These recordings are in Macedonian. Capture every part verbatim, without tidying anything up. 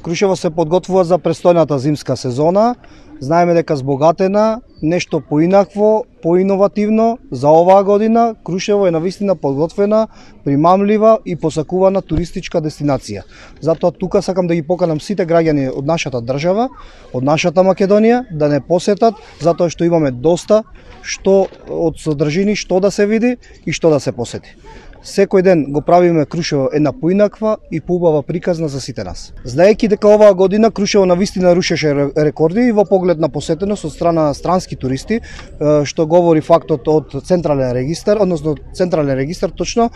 Крушево се подготвува за престојната зимска сезона. Знаеме дека збогатена, нешто поинакво, поиновативно за оваа година. Крушево е навистина подготвена, примамлива и посакувана туристичка дестинација. Затоа тука сакам да ги поканам сите граѓани од нашата држава, од нашата Македонија, да не посетат, затоа што имаме доста што од содржини, што да се види и што да се посети. Секој ден го правиме Крушево една поинаква и поубава приказна за сите нас. Знаејќи дека оваа година Крушево навистина рушеше рекорди и во поглед на посетеност од страна на странски туристи, што говори фактот од Централен регистар, односно Централен регистар точно,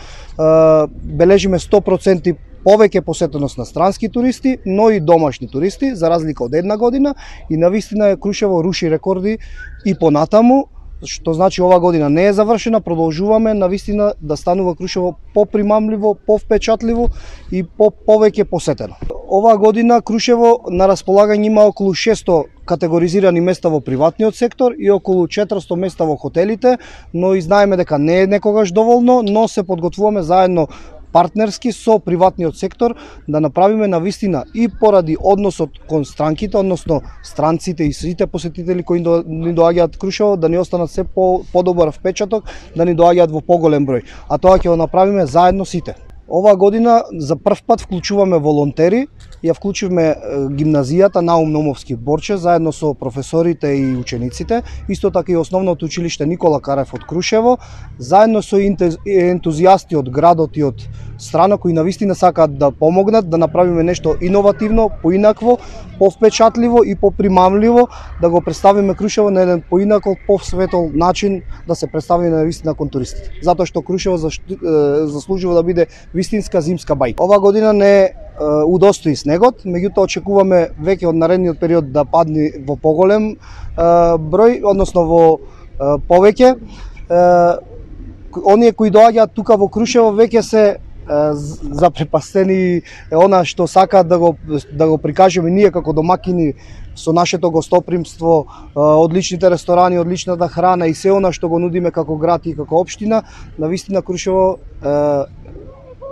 бележиме сто проценти повеќе посетеност на странски туристи, но и домашни туристи, за разлика од една година, и навистина Крушево руши рекорди и понатаму, што значи ова година не е завршена, продолжуваме навистина да станува Крушево попримамливо, повпечатливо и по повеќе посетено. Оваа година Крушево на располагање има околу шесто категоризирани места во приватниот сектор и околу четиристо места во хотелите, но и знаеме дека не е некогаш доволно, но се подготвуваме заедно партнерски со приватниот сектор да направиме навистина и поради односот кон странките, односно странците и сите посетители кои ни доаѓаат Крушево, да ни останат се по подобар впечаток, да ни доаѓаат во поголем број. А тоа ќе го направиме заедно сите. Оваа година за прв пат вклучуваме волонтери, ја вклучивме гимназијата Наум Номовски Борче заедно со професорите и учениците, исто така и основното училиште Никола Карев од Крушево, заедно со ентузијасти од градот и од страна кои навистина сакаат да помогнат да направиме нешто иновативно, поинакво, повпечатливо и попримамливо, да го представиме Крушево на еден поинаков, повсветол начин да се представи навистина кон туристите. Затоа што Крушево заслужува да биде вистинска зимска бајка. Ова година не удостои снегот, меѓутоа очекуваме веќе од наредниот период да падне во поголем број, односно во повеќе. Оние кои доаѓаат тука во Крушево веќе се запрепастени она што сакаат да го да го прикажеме ние како домакини со нашето гостопримство, одличните ресторани, одличната храна и се она што го нудиме како град и како општина. Навистина Крушево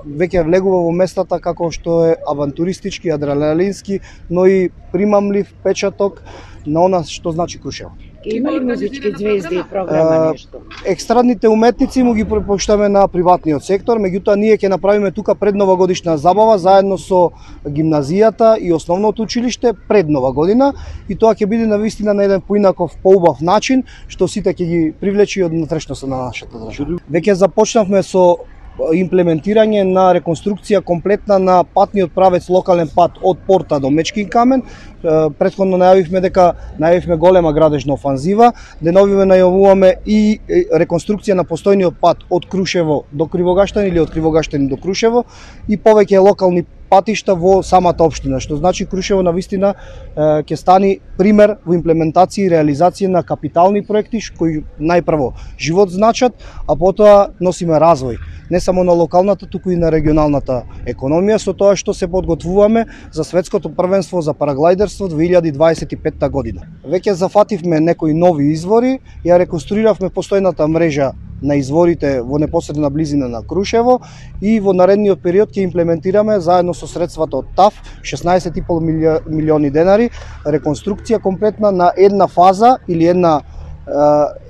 веќе влегува во местата како што е авантуристички, адреналински, но и примамлив печаток на она што значи Крушево. Има ли музички звезди и програма нешто? Екстрадните уметници му ги препуштаме на приватниот сектор, меѓутоа ние ќе направиме тука предновогодишна забава заедно со гимназијата и основното училиште пред Нова година и тоа ќе биде навистина на еден поинаков, поубав начин, што сите ќе ги привлечи од внатрешноста на нашата држава. Веќе започнавме со имплементирање на реконструкција комплетна на патниот правец локален пат од Порта до Мечкин камен. Претходно најавивме дека најавивме голема градежна офанзива, деновиве најавуваме и реконструкција на постојниот пат од Крушево до Кривогаштани или од Кривогаштани до Крушево и повеќе локални патишта во самата општина, што значи Крушево навистина ќе стани пример во имплементација и реализација на капитални проекти кои најпрво живот значат, а потоа носиме развој не само на локалната, туку и на регионалната економија, со тоа што се подготвуваме за светското првенство за параглајдерство две илјади дваесет и петта година. Веќе зафативме некои нови извори, ја реконструиравме постојната мрежа на изворите во непосредна близина на Крушево и во наредниот период ќе имплементираме заедно со средствата од ТАФ шеснаесет и пол милиони денари реконструкција комплетна на една фаза или една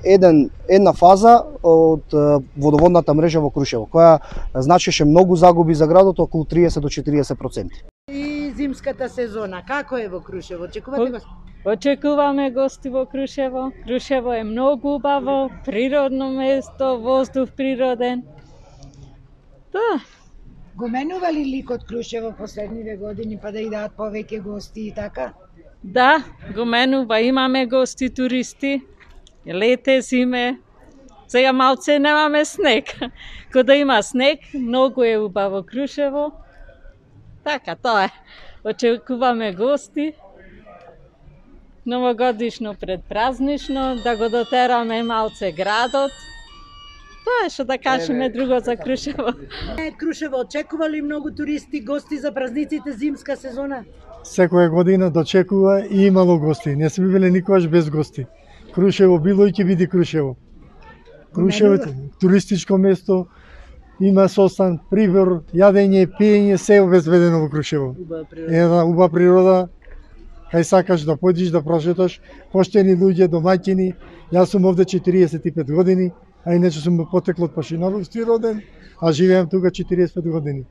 еден една фаза од водоводната мрежа во Крушево, која значеше многу загуби за градот, околу триесет до четириесет проценти. И зимската сезона, како е во Крушево? Очекувате гости? Очекуваме гости во Крушево. Крушево е многу убаво, природно место, воздух природен. Да. Го менува ли ликот Крушево последниве години па да идат повеќе гости и така? Да, го менува, имаме гости туристи. Лете, зиме. Сега малце немаме снег. Кога има снег, многу е убаво Крушево. Така, тоа е. Очекуваме гости. Новогодишно предпразнично, да го дотераме малце градот. Тоа е што да кажеме друго за Крушево. Крушево очекува ли многу туристи, гости за празниците зимска сезона? Секоја година дочекува и имало гости. Не сме биле никогаш без гости. Крушево било и ќе биде Крушево. Крушево е туристичко место има состан, прибор, јадење, пиење, се обезбедено во Крушево. Една убава природа, кај сакаш да појдеш да прошеташ, поштени луѓе, домаќини. Јас сум овде четириесет и пет години, а иначе сум потекло од Пашиновски роден, а живеам тука четириесет и пет години.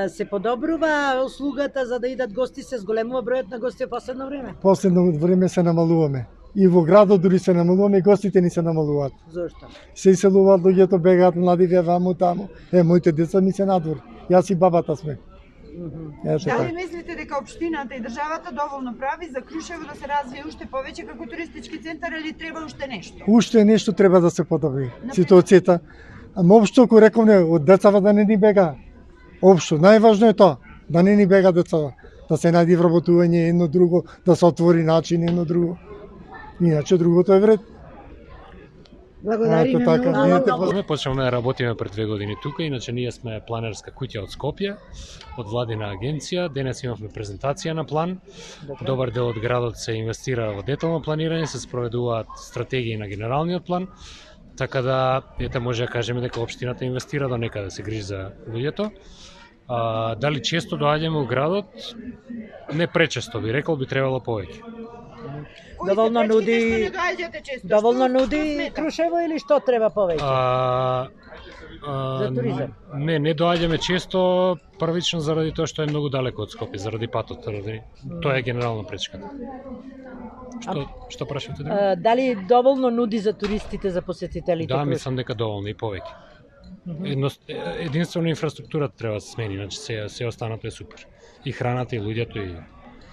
Се подобрува услугата за да идат гости, се зголемува бројот на гости во последно време? Последно време се намалуваме. И во градот дури се намалуваме, и гостите ни се намалуваат. Зошто? Се иселуваат луѓето, бегаат младиве ваму таму. Е, моите деца ми се надвор. Јас и бабата сме. Ето Дали така. Мислите дека општината и државата доволно прави за Крушево да се развие уште повеќе како туристички центар или треба уште нешто? Уште нешто треба да се подобри. Ситуацијата. Ама општо кој рековме од децава да не ни бега. Општо најважно е тоа, да не ни бега децава, да се најди вработување едно друго, да се отвори начин едно друго. Иначе другото е вред. Благодариме многу. Ние почнавме да работиме пред две години тука, иначе ние сме планерска куќа од Скопје, од владина агенција. Денес имавме презентација на план. Добар дел од градот се инвестира во детално планирање, се спроведуваат стратегии на генералниот план. Така да, ете може да кажеме дека општината инвестира до некаде, се грижи за луѓето. А, дали често доаѓаме во градот? Не пречесто, би рекол, би требало повеќе. Доволно нуди, доволно нуди Крушево или што треба повеќе? А, а, За туризам? Не, не доаѓаме често, првично заради тоа што е многу далеко од Скопје, заради патот, заради тоа е генерално пречката. Што, што прашувате? А, дали доволно нуди за туристите, за посетителите? Да, мислам дека доволно и повеќе. Едно, единствено инфраструктурата треба да се смени, значи се, се останато е супер. И храната, и луѓето, и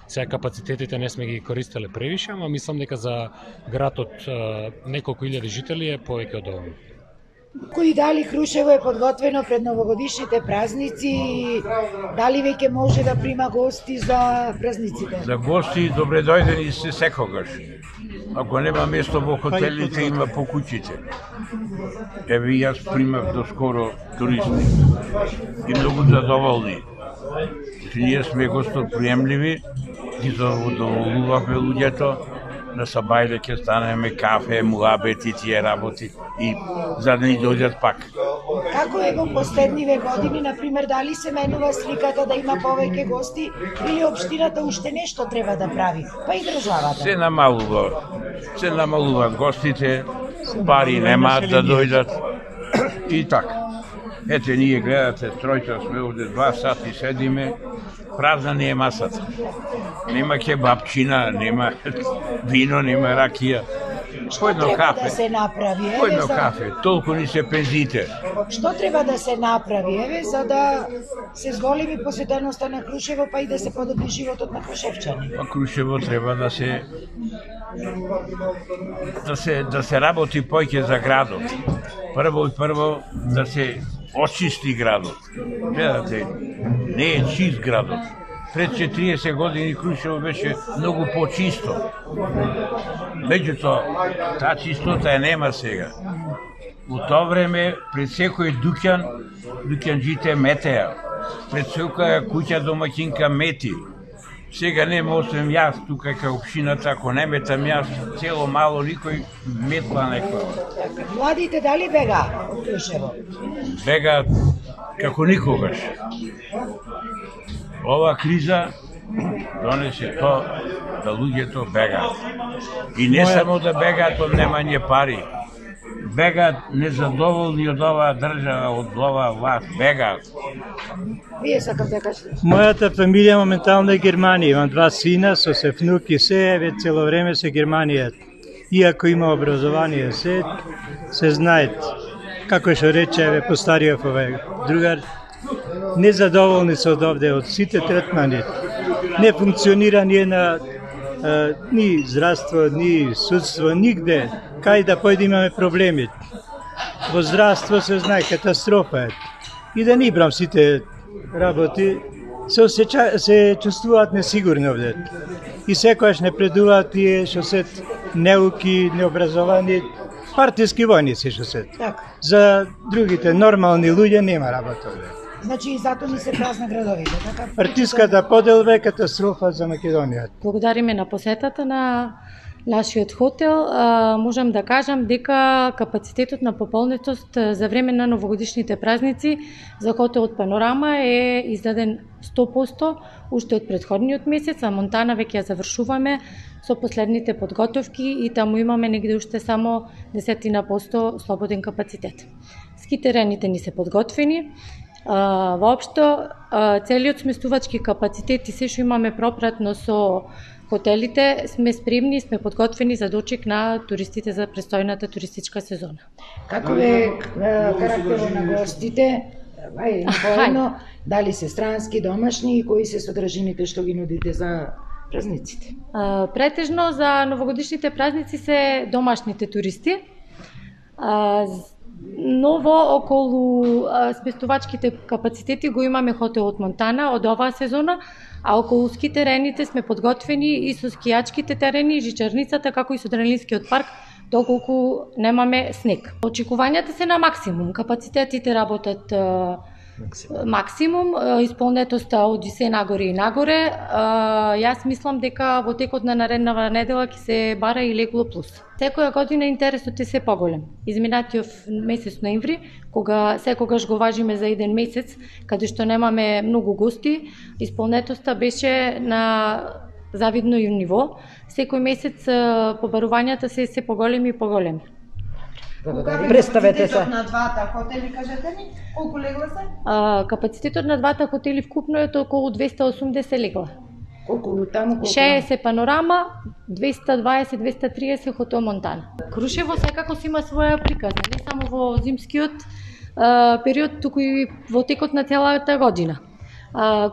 сега капацитетите не сме ги користеле превише, ама мислам дека за град од неколку илјади жители е повеќе од доволно. Кои дали Крушево е подготвено пред новогодишните празници, дали веќе може да прима гости за празниците? За гости добре дојдени се секогаш. Ако нема место во хотелите, има по куќите. Еве јас примав доскоро туристи и многу задоволни. Ние сме гостоприемливи, ги задоволувавме луѓето, на сабајле ќе станеме кафе, муабети, тие работи и за да ни дојдат пак. Како е во последниве години, например, дали се менува сликата да има повеќе гости или општината уште нешто треба да прави, па и државата? Се намалува, се намалуваат гостите, пари немаат да дојдат и така. Ете, ние гледате, тројца сме овде два сати седиме, празна не е масата. Нема кебапчина, нема вино, нема ракија. Што треба да се направи? По едно кафе, толку ни се пензите. Што треба да се направи, еве, за да се зголеми посетеноста на Крушево, па и да се подобри животот на крушевчани? Па Крушево треба да се да се да се работи поќе за градот. Прво и прво да се очисти градот. Гледате, не е чист градот. Пред четириесет години Крушево беше многу почисто. Меѓутоа, таа чистота е нема сега. Во тоа време, пред секој дуќан, дуќанџите метеа. Пред секоја куќа домаќинка мети. Сега нема освен јас тука кај општината, ако не метам јас, цело мало никој метла некоја. Младите дали бега од Крушево? Бега како никогаш. Ова криза донесе тоа да луѓето бегаат. И не само да бегаат од немање пари. Бегаат незадоволни од оваа држава, од оваа власт, бегаат. Вие сакате да кажете? Мојата фамилија моментално е Германија. Имам два сина, со се внуки, се, еве цело време се Германија. Иако има образование, се, се знаат. Како што рече, еве, постариот овој другар, незадоволни се од овде, од сите третмани. Не функционира ни една, а, ни здравство, ни судство, нигде. Кај да појде имаме проблеми. Во здравство се знае, катастрофа е. И да не брам сите работи, се, осеча, се чувствуваат несигурни овде. И секојаш не предуваат тие што се неуки, необразовани, партиски војници што се. Така. За другите нормални луѓе нема работа овде. Значи и зато ни се празна градовите, така? Партиската поделба е катастрофа за Македонија. Благодариме на посетата на нашиот хотел, можам да кажам дека капацитетот на пополнетост за време на новогодишните празници за хотелот Панорама е издаден сто проценти уште од претходниот месец, а Монтана веќе ја завршуваме со последните подготовки и таму имаме негде уште само десетина посто слободен капацитет. Ски терените ни се подготвени. Воопшто, целиот сместувачки капацитет и се што имаме пропратно со хотелите, сме спремни и сме подготвени за дочек на туристите за престојната туристичка сезона. Како е карактерот на гостите? Ај, поедно, дали се странски, домашни и кои се содржините што ги нудите за празниците? Претежно за новогодишните празници се домашните туристи. Ново околу сместувачките капацитети го имаме хотелот Монтана од оваа сезона, а околу ски терените сме подготвени и со скијачките терени, жичарницата, како и со адреналинскиот парк, доколку немаме снег. Очекувањата се на максимум, капацитетите работат максимум, исполнетоста од се нагоре и нагоре. Јас мислам дека во текот на нареднава недела ќе се бара и легло плюс. Секоја година интересот е се поголем. Изминатиот месец ноември, кога секогаш го важиме за еден месец, каде што немаме многу гости, исполнетоста беше на завидно и ниво. Секој месец побарувањата се се поголеми и поголеми. Представете се. Капацитетот на двата хотели, кажете ми, колку легла се? А, капацитетот на двата хотели вкупно е околу двеста и осумдесет легла. Колку таму, колку? шеесет Панорама, двеста и дваесет до двеста и триесет хотел Монтана. Крушево секако си има своја приказна, не само во зимскиот а, период, туку и во текот на целата година.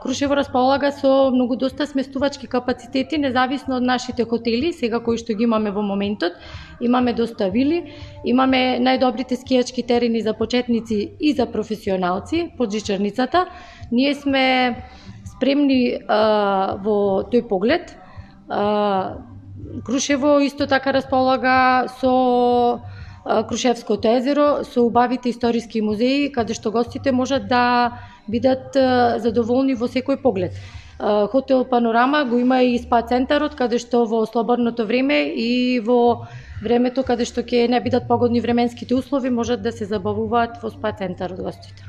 Крушево располага со многу доста сместувачки капацитети, независно од нашите хотели, сега кои што ги имаме во моментот. Имаме доста вили, имаме најдобрите скијачки терени за почетници и за професионалци под жичарницата. Ние сме спремни а, во тој поглед. А, Крушево исто така располага со Крушевското езеро, со убавите историски музеи, каде што гостите можат да бидат задоволни во секој поглед. Хотел Панорама го има и спа центарот, каде што во слободното време и во времето каде што ќе не бидат погодни временските услови, можат да се забавуваат во спа центарот гостите.